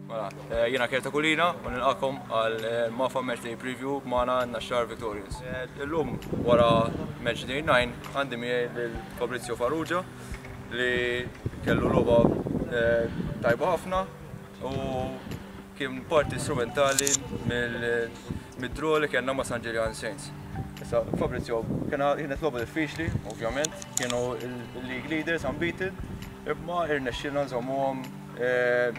Mela, eh, jiena Kerta Kulina u nilqakom għal eh, Mafa Match Day Preview magħna Naxxar Victorians. Eh, illum wara Match Day 9 għandi miegħi lil Fabrizio Farrugia li kellu logħba tajba ħafna u kien parti strumentali mid-draw li kellna ma' San Ġiljan Saints. Issa, Fabrizio, kienet logħba diffiċli, ovvjament, kienu il-league leaders unbeaten, imma irnexxielna nżommuhom eh,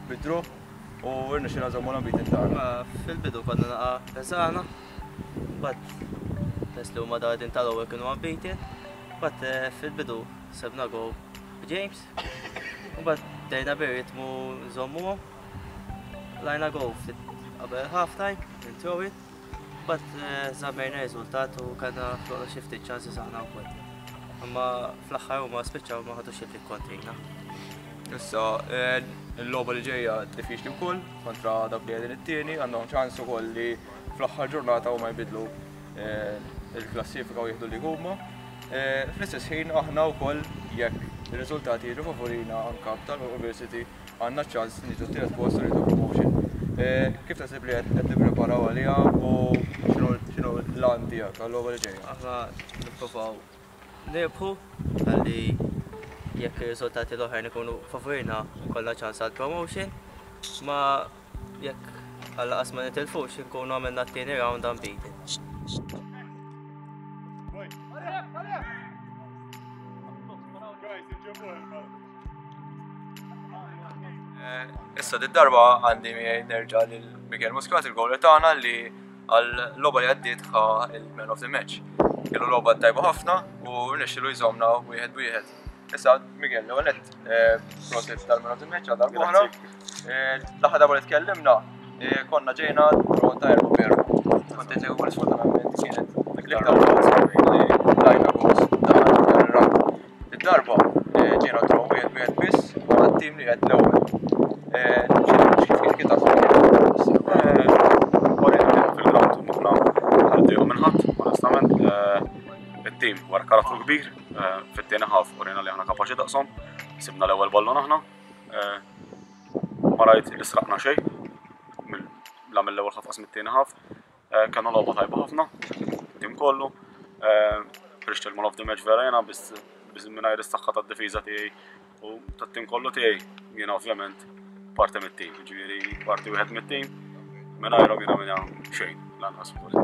bid-draw u irnexxielna nżommu l-unbeaten tagħna. Fil-bidu konna naqa' beżana, bat pers li huma dawn tal-ewwel kienu unbeaten, bat eh, fil-bidu sebna go James, u bat bdejna bir-ritmu nżommuhom. Lajna go ftit qabel half time, minn throw-in, bat eh, żammejna riżultat u kellna ħloqna xi ftit ċansi aħna wkoll. Imma fl-aħħar huma spiċċaw ma ħadux il kontrina. Issa, eh, il-logħba li ġejja diffiċli wkoll kontra dak li qegħdin it-tieni, għandhom ċans ukoll li fl-aħħar ġurnata huma jbidlu eh, il-klassifika u jieħdu li huma. Fl-istess ħin aħna wkoll jekk ir-riżultati jiġu favorina anka tal-University għandna ċans niġu t-tielet post u nieħdu promotion. Eh, kif taħseb li qed nippreparaw għaliha u x'inhu l-għan tiegħek għal-logħba li ġejja? Aħna nipprovaw nirbħu għalli jekk ir-riżultati l-oħrajn ikunu favorina kollha ċans għal promotion, ma jekk għalla qas ma nitilfux inkunu għamilna t-tieni round unbeaten. Eh, issa di darba għandi miegħi nerġa' lil Miguel Muscat il-gowler tagħna li għal logħba li għaddiet ħa il-man of the match. Kellu logħba tajba ħafna u rnexxielu jżomna wieħed wieħed. Issa Miguel, l-ewwel nett eh, prosit tal-man of the match għal darb'oħra. Eh, l-aħħar darba li tkellimna konna ġejna draw ta' erba' veru. Kont qed li sfortunatament kienet l-iktar li tajna goals dan ir-round. Id-darba eh, ġejna draw wieħed wieħed biss ma' tim li qed l-ewwel. Eh, kif kif taħseb? Orejna fil-ground maħna ħalli minn ħadd, onestament. Eh, it-tim wara karattru kbir, fit-tieni ħaf urejna li aħna kapaċi daqshom, sibna l-ewwel ballon aħna. Ma rajt li sraqna xejn, la mill-ewwel ħaf qas mit-tieni ħaf. Eh, Kellna logħba tajba ħafna, tim kollu. Eh, ħriġt il-man of the match vera jena biss mingħajr is-saħħa tad-difiża tiegħi u tat-tim kollu tiegħi jiena ovvjament parti mit-tim, ġifieri parti wieħed mit-tim, mingħajrhom jiena minna xejn lanqas ukoll.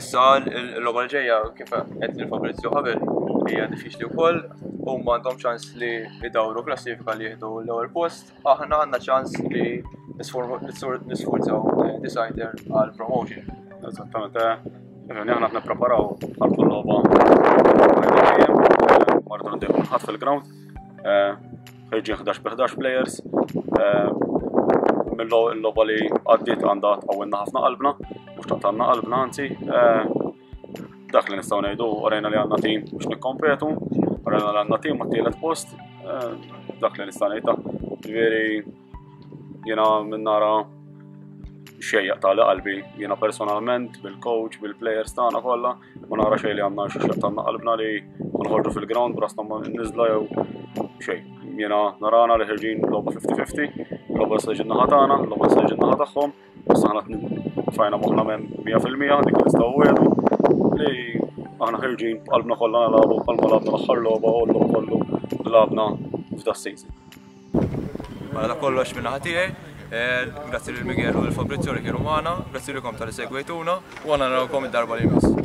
Issa l-logħba l-ġejja kif qed lil Fabrizio qabel hija diffiċli wkoll, huma għandhom ċans li jdawru klassifika li jieħdu l-ewwel post aħna għandna ċans li nisforzaw eh, decider għal promotion. Eżattament, eh, aħna qed nippreparaw għal kull logħba mardu ndieħu ħadd fil-ground. Eh, ħirġin 11 bi 11 players. Mill-logħba li għaddiet għandha tqawwilna ħafna qalbna, mhux taqtanna qalbna anzi. Dak li nistgħu ngħidu, orejna li għandna tim biex nikkompetu, orejna li għandna tim għat-tielet post, eh, dak li nista' ngħid. Ġifieri jiena minn nara xejn jaqtali qalbi, jiena personalment bil-coach, bil-players tagħna kollha, ma nara xejn li għandna xi xjaqtalna qalbna li nħorġu fil-ground brasna ma niżla jew xejn. Jiena narana li ħirġin logħba 50-50, logħba se ġinna ħatana, logħba se ġinna tagħhom, Issa aħna tfajna moħħna minn 100% dik li nistgħu wieħdu li aħna ħirġin b'qalbna kollha nilagħbu bħalma lagħbna l-aħħar logħba u l-logħob kollu li lagħbna f'da season. Mela dak kollox minn naħa tiegħi. Eh, grazzi lil Miguel u lil Fabrizio li kienu magħna, grazzi lilkom tal-li segwejtuna u għandna narawkom id-darba li jmiss.